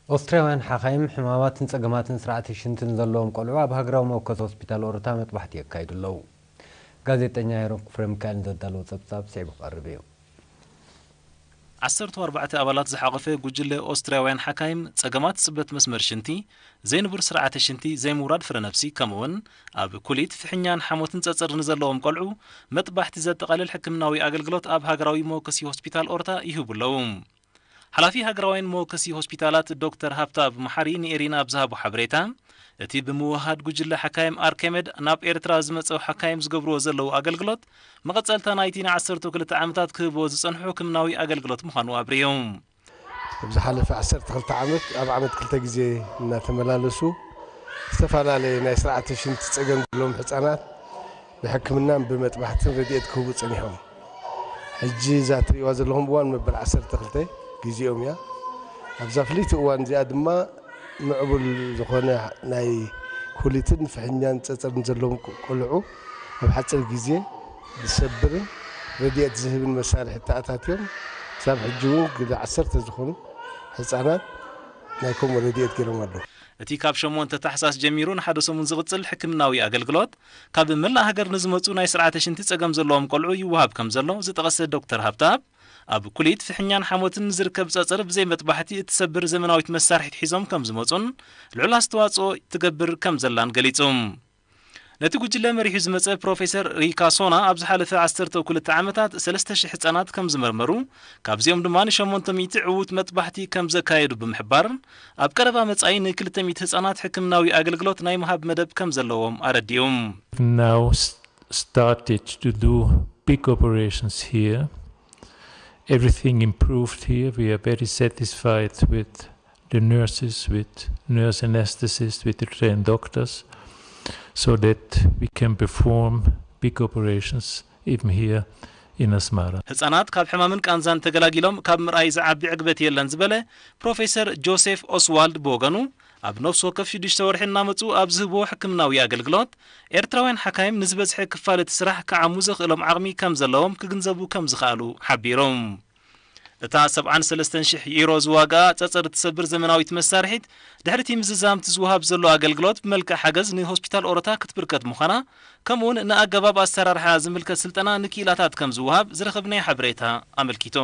ኦስትርያውያን ሓኻይም ሕማማትን ጸገማትን ስርዓተ ሽንትን ዘለዎም ቆልዑ ኣብ ሃገራዊ መወከሲ ሆስፒታል ኦሮታ መጥባሕቲ የካይዱ ኣለዉ። ጋዜጠኛ ሄሮን ክፍረ ሚካኤል ንዘዳለዎ ጸብጻብ ስዒቡ ክቐርብ እዩ። ዓሰርተ ኣርባዕተ ኣባላት ዝሓቖፈ ጉጅለ ኦስትርያውያን ሓካይም ጸገማት ጽበት መስመር ሽንቲ፣ ዘይንቡር ስርዓተ ሽንቲ፣ ዘይምውራድ ፍረ ነብሲ፣ ከምኡውን ኣብ ኩሊት፣ ፍሕኛን ሓሞትን ጸጸር ንዘለዎም ቆልዑ መጥባሕቲ ዘጠቓልል ሕክምናዊ ኣገልግሎት ኣብ ሃገራዊ መወከሲ ሆስፒታል ኦርታ ይህቡ ኣለዉ። ሓላፊ ሃገራውያን መወከሲ ሆስፒታላት ዶክተር ሃብታብ መሓሪ ንኤሪና ኣብ ዝሃቦ ሓበሬታ፣ እቲ ብምውሃድ ጉጅለ ሓካይም ኣርኬመድ ናብ ኤርትራ ዝመጸው ሓካይም ዝገብርዎ ዘለዉ ኣገልግሎት፣ መቐጸልታ ናይቲ ንዓሰርተ ክልተ ዓመታት ክህብዎ ዝጸንሑ ሕክምናዊ ኣገልግሎት ምዃኑ ኣብሪሁ። ኣብ ዝሓለፈ ዓሰርተ ክልተ ዓመት ኣብ ዓመት ክልተ ግዜ እናተመላለሱ ዝተፈላለየ ናይ ስርዓተ ሽንቲ ጸገም ዘለዎም ህጻናት ብሕክምናን ብመጥባሕትን ረድኤት ክህቡ ጸኒሖም። ሕጂ እዛ ትርእይዋ ዘለኹም እዋን መበል ዓሰርተ ክልተ ግዜኦም እያ። ኣብዛ ፍልይቲ እዋን እዚኣ ድማ ምዕቡል ዝኾነ ናይ ኩሊትን ፍሕኛን ጸጸርን ዘለዎም ቆልዑ ኣብ ሓጺር ግዜ ዝሰብርን ረድኤት ዝህብን መሳርሒ ተኣታትዮም ክሳብ ሕጂ እውን ግደ ዓሰርተ ዝኾኑ ህጻናት ናይ ከምኡ ረድኤት ገይሮም ኣለዉ። እቲ ካብ ሸሞንተ ታሕሳስ ጀሚሩ ንሓደ ሰሙን ዝቕጽል ሕክምናዊ ኣገልግሎት፣ ካብ መላእ ሃገር ንዝመጹ ናይ ስርዓተ ሽንቲ ጸገም ዘለዎም ቆልዑ ይወሃብ ከም ዘሎ ዝጠቐሰ ዶክተር ሃብታብ፣ ኣብ ኩሊት ፍሕኛን ሓሞትን ዝርከብ ጸጸር ብዘይ መጥባሕቲ እትሰብር ዘመናዊት መሳርሒት ሒዞም ከም ዝመጹን ልዑል ኣስተዋጽኦ ትገብር ከም ዘላን ገሊጹ። ነቲ ጉጅለ መሪሑ ዝመጸ ፕሮፌሰር ሪካ ሶና ኣብ ዝሓለፈ ዓሰርተ ክልተ ዓመታት ሰለስተ ሽሕ ህጻናት ከም ዝመርመሩ፣ ካብዚኦም ድማ ንሸሞንተ ሚእቲ ዕዉት መጥባሕቲ ከም ዘካየዱ ብምሕባር፣ ኣብ ቀረባ መጻኢ ንክልተ ሚእቲ ህጻናት ሕክምናዊ ኣገልግሎት ናይ ምሃብ መደብ ከም ዘለዎም ኣረዲኡ። Now s- started to do big operations here. Everything improved here. We are very satisfied with the nurses, with nurse anesthetists, with the trained doctors, so that we can perform big operations even here in Asmara. ህጻናት ካብ ሕማምን ቃንዛን ተገላጊሎም ካብ ምርኣይ ዝዓቢ ዕግበት የለን ዝበለ ፕሮፌሰር ጆሴፍ ኦስዋልድ ብወገኑ፣ ኣብ ነፍሲ ወከፍ ሽዱሽተ ወርሒ እናመጹ ኣብ ዝህብዎ ሕክምናዊ ኣገልግሎት፣ ኤርትራውያን ሓካይም ንዝበዝሐ ክፋል እቲ ስራሕ ክዓሙ ዘኽእሎም ዓቕሚ ከም ዘለዎም ክግንዘቡ ከም ዝኸኣሉ ሓቢሩ። እታ ሰብዓን ሰለስተን ሽሕ ዩሮ ዝዋጋኣ ጸጸር እትሰብር ዘመናዊት መሳርሒት፣ ድሕሪ እቲ ምዝዛም እቲ ዝወሃብ ዘሎ ኣገልግሎት ብመልክዕ ሓገዝ ንሆስፒታል ኦሮታ ክትብርከት ምዃና፣ ከምኡውን ንኣገባብ ኣሰራርሓ ዝምልከት ስልጠና ንክኢላታት ከም ዝወሃብ ዝረኸብናዮ ሓበሬታ ኣመልኪቱ።